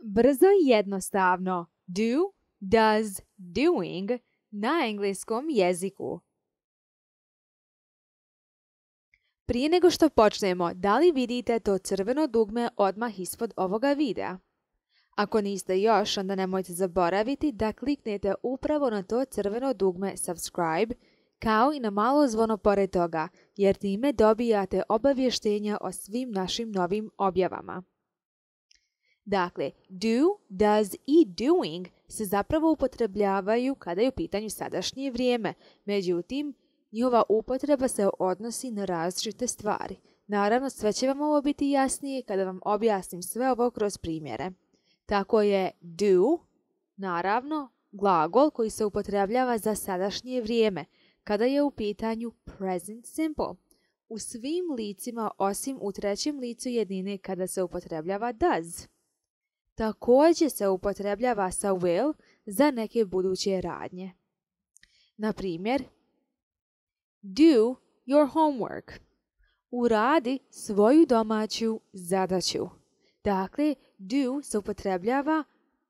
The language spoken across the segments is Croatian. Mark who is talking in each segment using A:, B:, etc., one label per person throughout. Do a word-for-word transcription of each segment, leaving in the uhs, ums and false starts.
A: Brzo i jednostavno. Do, does, doing na engleskom jeziku. Prije nego što počnemo, da li vidite to crveno dugme odmah ispod ovoga videa? Ako niste još, onda nemojte zaboraviti da kliknete upravo na to crveno dugme subscribe, kao i na malo zvono pored toga, jer time dobijate obavještenja o svim našim novim objavama. Dakle, do, does i doing se zapravo upotrebljavaju kada je u pitanju sadašnje vrijeme, međutim, njihova upotreba se odnosi na različite stvari. Naravno, sve će vam ovo biti jasnije kada vam objasnim sve ovo kroz primjere. Tako je do, naravno, glagol koji se upotrebljava za sadašnje vrijeme, kada je u pitanju present simple. U svim licima osim u trećem licu jednine kada se upotrebljava does. Također se upotrebljava sa will za neke buduće radnje. Na primjer, do your homework. Uradi svoju domaću zadaću. Dakle, do se upotrebljava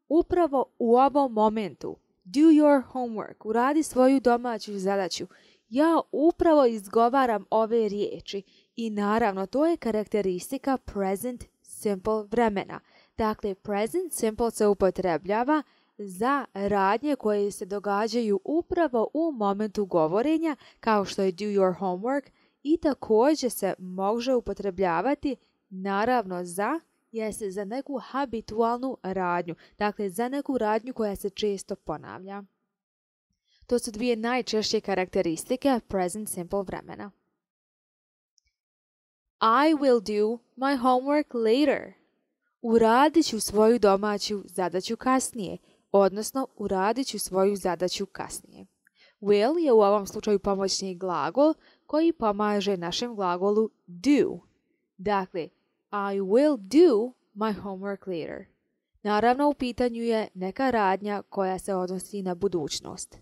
A: upravo u ovom momentu. Do your homework. Uradi svoju domaću zadaću. Ja upravo izgovaram ove riječi i naravno to je karakteristika present simple vremena. Dakle, present simple se upotrebljava za radnje koje se događaju upravo u momentu govorenja, kao što je do your homework, i također se može upotrebljavati naravno za, jeste za neku habitualnu radnju, dakle za neku radnju koja se često ponavlja. To su dvije najčešće karakteristike present simple vremena. I will do my homework later. Uradit ću svoju domaću zadaću kasnije, odnosno uradit ću svoju zadaću kasnije. Will je u ovom slučaju pomoćni glagol koji pomaže našem glagolu do. Dakle, I will do my homework later. Naravno, u pitanju je neka radnja koja se odnosi na budućnost.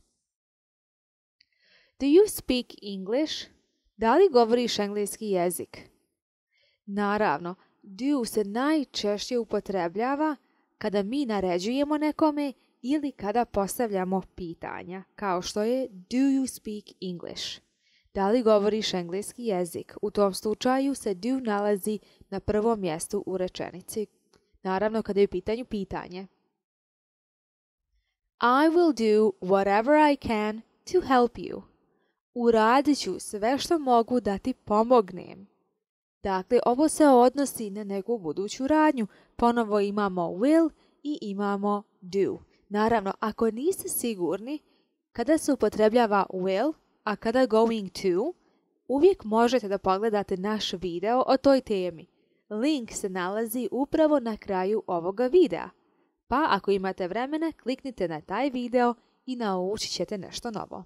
A: Do you speak English? Da li govoriš engleski jezik? Naravno, do se najčešće upotrebljava kada mi naređujemo nekome ili kada postavljamo pitanja, kao što je do you speak English? Da li govoriš engleski jezik? U tom slučaju se do nalazi na prvom mjestu u rečenici. Naravno, kada je u pitanju pitanje. I will do whatever I can to help you. Uradit ću sve što mogu da ti pomognem. Dakle, ovo se odnosi na neku buduću radnju. Ponovo imamo will i imamo do. Naravno, ako niste sigurni kada se upotrebljava will, a kada going to, uvijek možete da pogledate naš video o toj temi. Link se nalazi upravo na kraju ovoga videa. Pa ako imate vremena, kliknite na taj video i naučit ćete nešto novo.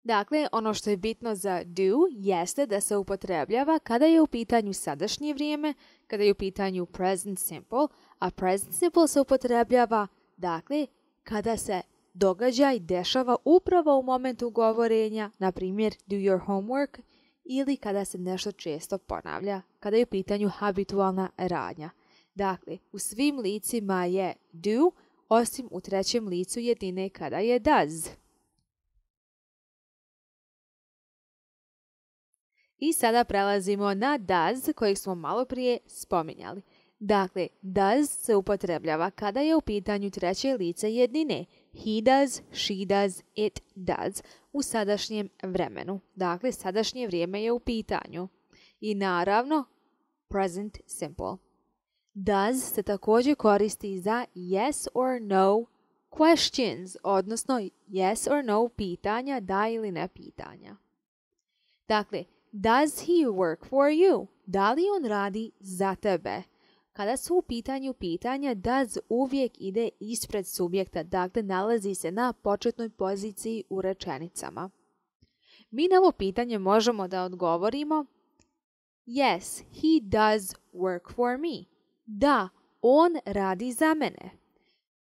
A: Dakle, ono što je bitno za do jeste da se upotrebljava kada je u pitanju sadašnje vrijeme, kada je u pitanju present simple, a present simple se upotrebljava, dakle, kada se događaj dešava upravo u momentu govorenja, na primjer do your homework, ili kada se nešto često ponavlja, kada je u pitanju habitualna radnja. Dakle, u svim licima je do, osim u trećem licu jedine kada je does. I sada prelazimo na does kojeg smo malo prije spominjali. Dakle, does se upotrebljava kada je u pitanju treće lice jednine. He does, she does, it does u sadašnjem vremenu. Dakle, sadašnje vrijeme je u pitanju. I naravno, present simple. Does se također koristi za yes or no questions, odnosno yes or no pitanja, da ili ne pitanja. Dakle, does he work for you? Da li on radi za tebe? Kada su u pitanju pitanja, does uvijek ide ispred subjekta, dakle nalazi se na početnoj poziciji u rečenicama. Mi na ovo pitanje možemo da odgovorimo yes, he does work for me. Da, on radi za mene.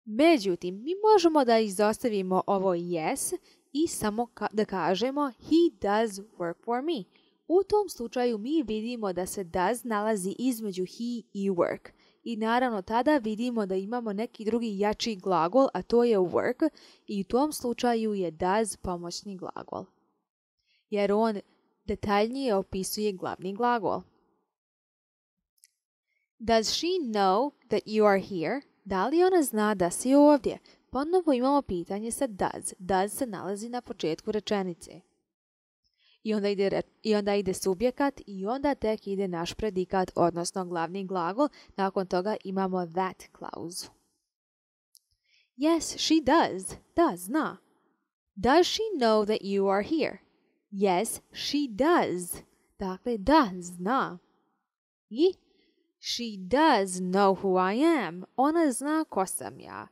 A: Međutim, mi možemo da izostavimo ovo yes i samo ka- da kažemo he does work for me. U tom slučaju mi vidimo da se does nalazi između he i work. i naravno tada vidimo da imamo neki drugi jači glagol, a to je work i u tom slučaju je does pomoćni glagol, jer on detaljnije opisuje glavni glagol. Does she know that you are here? Da li ona zna da si ovdje? Ponovo imamo pitanje sa does. Does se nalazi na početku rečenice. I onda, ide, I onda ide subjekat i onda tek ide naš predikat, odnosno glavni glagol. Nakon toga imamo that clause. Yes, she does. Da, zna. Does she know that you are here? Yes, she does. Dakle, da, zna. I she does know who I am. Ona zna ko sam ja.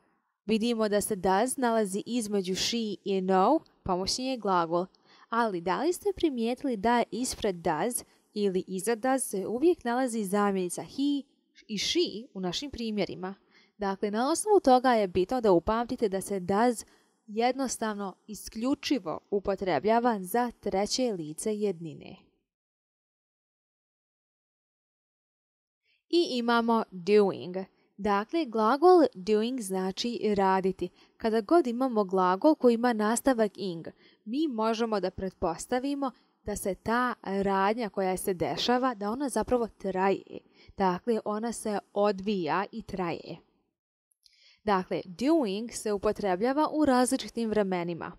A: Vidimo da se does nalazi između she i know, pomoćni je glagol. Ali da li ste primijetili da ispred does ili iza does se uvijek nalazi zamjenica he i she u našim primjerima? Dakle, na osnovu toga je bitno da upamtite da se does jednostavno isključivo upotrebljava za treće lice jednine. I imamo doing. Dakle, glagol doing znači raditi. Kada god imamo glagol koji ima nastavak ing, mi možemo da pretpostavimo da se ta radnja koja se dešava, da ona zapravo traje. Dakle, ona se odvija i traje. Dakle, doing se upotrebljava u različitim vremenima.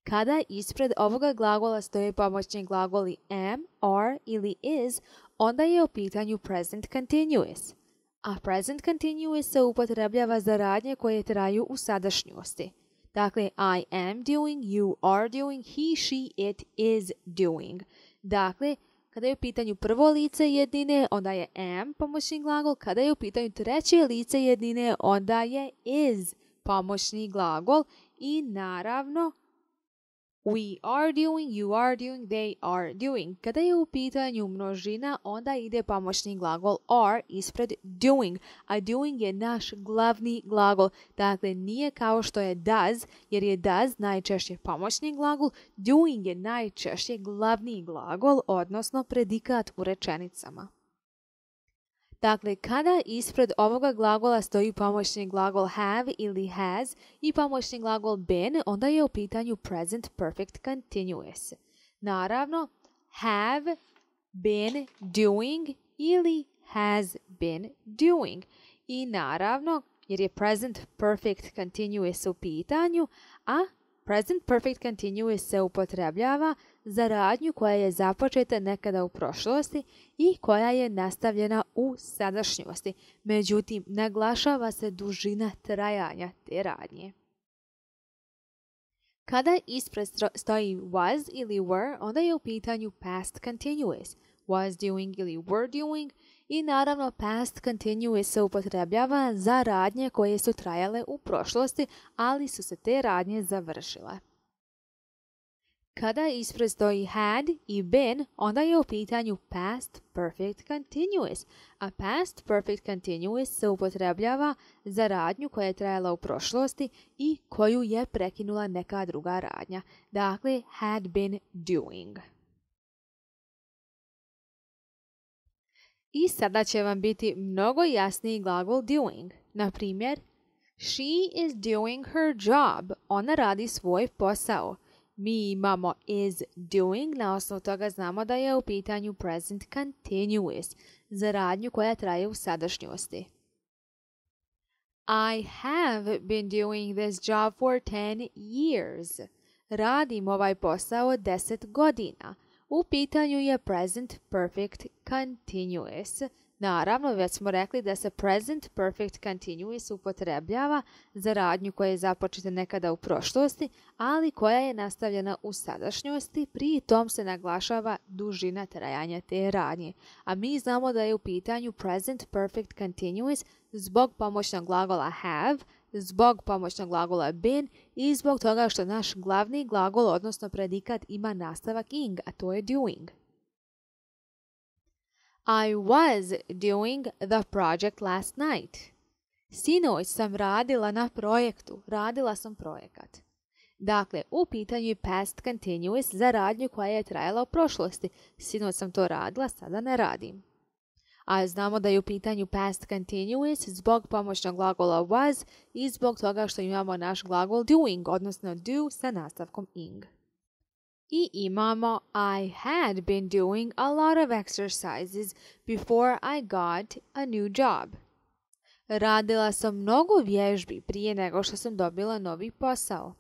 A: Kada ispred ovoga glagola stoje pomoćni glagoli am, are ili is, onda je u pitanju present continuous. A present continuous se upotrebljava za radnje koje traju u sadašnjosti. Dakle, I am doing, you are doing, he, she, it is doing. Dakle, kada je u pitanju prvo lice jednine, onda je am pomoćni glagol. Kada je u pitanju treće lice jednine, onda je is pomoćni glagol. I naravno, we are doing, you are doing, they are doing. Kada je u pitanju množina, onda ide pomoćni glagol are ispred doing, a doing je naš glavni glagol. Dakle, nije kao što je does, jer je does najčešće pomoćni glagol, doing je najčešće glavni glagol, odnosno predikat u rečenicama. Dakle, kada ispred ovoga glagola stoji pomoćni glagol have ili has i pomoćni glagol been, onda je u pitanju present perfect continuous. Naravno, have been doing ili has been doing. I naravno, jer je present perfect continuous u pitanju, a present perfect continuous se upotrebljava za radnju koja je započeta nekada u prošlosti i koja je nastavljena u sadašnjosti. Međutim, naglašava se dužina trajanja te radnje. Kada ispred stoji was ili were, onda je u pitanju past continuous. Was doing ili were doing i naravno past continuous se upotrebljava za radnje koje su trajale u prošlosti, ali su se te radnje završile. Kada ispred stoji had i been, onda je u pitanju past perfect continuous, a past perfect continuous se upotrebljava za radnju koja je trajala u prošlosti i koju je prekinula neka druga radnja. Dakle, had been doing. I sada će vam biti mnogo jasniji glagol doing. Na primjer, she is doing her job. Ona radi svoj posao. Mi imamo is doing, na osnovu toga znamo da je u pitanju present continuous, za radnju koja traje u sadašnjosti. I have been doing this job for ten years. Radim ovaj posao deset godina. U pitanju je present perfect continuous. Naravno, već smo rekli da se present perfect continuous upotrebljava za radnju koja je započeta nekada u prošlosti, ali koja je nastavljena u sadašnjosti, pri tom se naglašava dužina trajanja te radnje. A mi znamo da je u pitanju present perfect continuous zbog pomoćnog glagola have, zbog pomoćnog glagola been i zbog toga što naš glavni glagol, odnosno predikat, ima nastavak ing, a to je doing. I was doing the project last night. Sinoć sam radila na projektu. Radila sam projekat. Dakle, u pitanju je past continuous za radnju koja je trajala u prošlosti. Sinoć sam to radila, sada ne radim. A znamo da je u pitanju past continuous zbog pomoćnog glagola was i zbog toga što imamo naš glagol doing, odnosno do sa nastavkom ing. I imamo I had been doing a lot of exercises before I got a new job. Radila sam mnogo vježbi prije nego što sam dobila novi posao.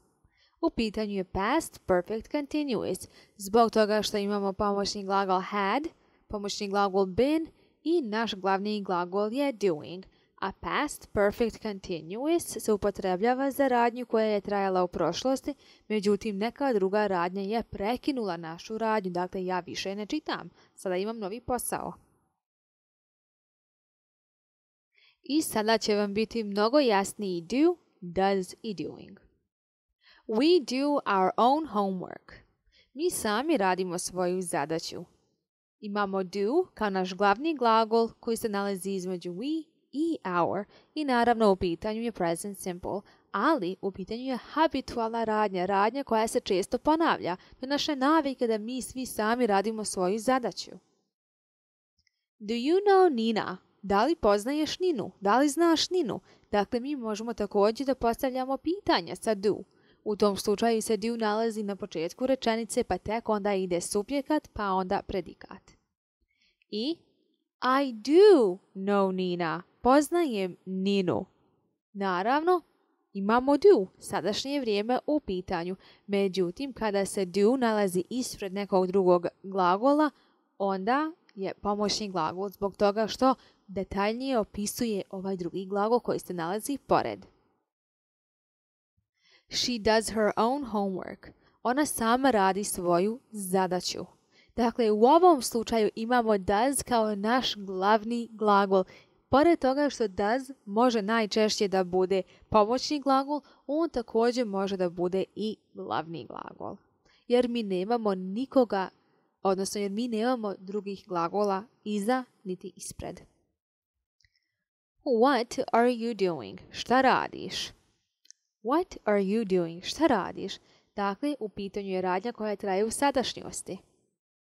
A: U pitanju je past perfect continuous zbog toga što imamo pomoćni glagol had, pomoćni glagol been i naš glavni glagol je doing, a past perfect continuous se upotrebljava za radnju koja je trajala u prošlosti, međutim neka druga radnja je prekinula našu radnju, dakle ja više ne čitam, sada imam novi posao. I sada će vam biti mnogo jasniji do, does i doing. We do our own homework. Mi sami radimo svoju zadaću. Imamo do kao naš glavni glagol koji se nalazi između we i our i naravno u pitanju je present simple, ali u pitanju je habitualna radnja, radnja koja se često ponavlja. To je naša navika da mi svi sami radimo svoju zadaću. Do you know Nina? Da li poznaješ Ninu? Da li znaš Ninu? Dakle, mi možemo također da postavljamo pitanja sa do. U tom slučaju se do nalazi na početku rečenice, pa tek onda ide subjekat, pa onda predikat. I I do know Nina. Poznajem Ninu. Naravno, imamo do, sadašnje vrijeme u pitanju. Međutim, kada se do nalazi ispred nekog drugog glagola, onda je pomoćni glagol zbog toga što detaljnije opisuje ovaj drugi glagol koji se nalazi pored. She does her own homework. Ona sama radi svoju zadaću. Dakle, u ovom slučaju imamo does kao naš glavni glagol. Pored toga što does može najčešće da bude pomoćni glagol, on također može da bude i glavni glagol. Jer mi nemamo nikoga, odnosno jer mi nemamo drugih glagola iza niti ispred. What are you doing? Šta radiš? What are you doing? Šta radiš? Dakle, u pitanju je radnja koja traje u sadašnjosti.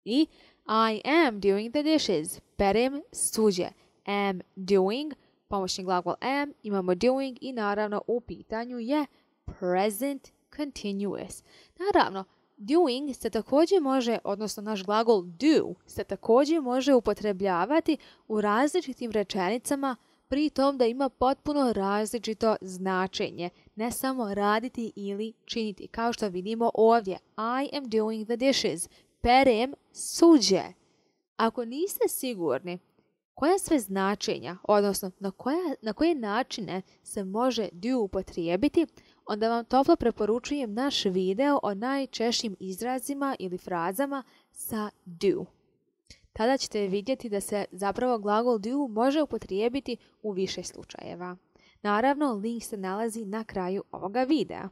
A: I I am doing the dishes. Perem suđe. Am doing, pomoćni glagol am, imamo doing i naravno u pitanju je present continuous. Naravno, doing se također može, odnosno naš glagol do se također može upotrebljavati u različitim rečenicama, pri tom da ima potpuno različito značenje, ne samo raditi ili činiti. Kao što vidimo ovdje, I am doing the dishes. Perem suđe. Ako niste sigurni koja sve značenja, odnosno na, koja, na koje načine se može do upotrijebiti, onda vam toplo preporučujem naš video o najčešćim izrazima ili frazama sa do. Tada ćete vidjeti da se zapravo glagol do može upotrijebiti u više slučajeva. Naravno, link se nalazi na kraju ovoga videa.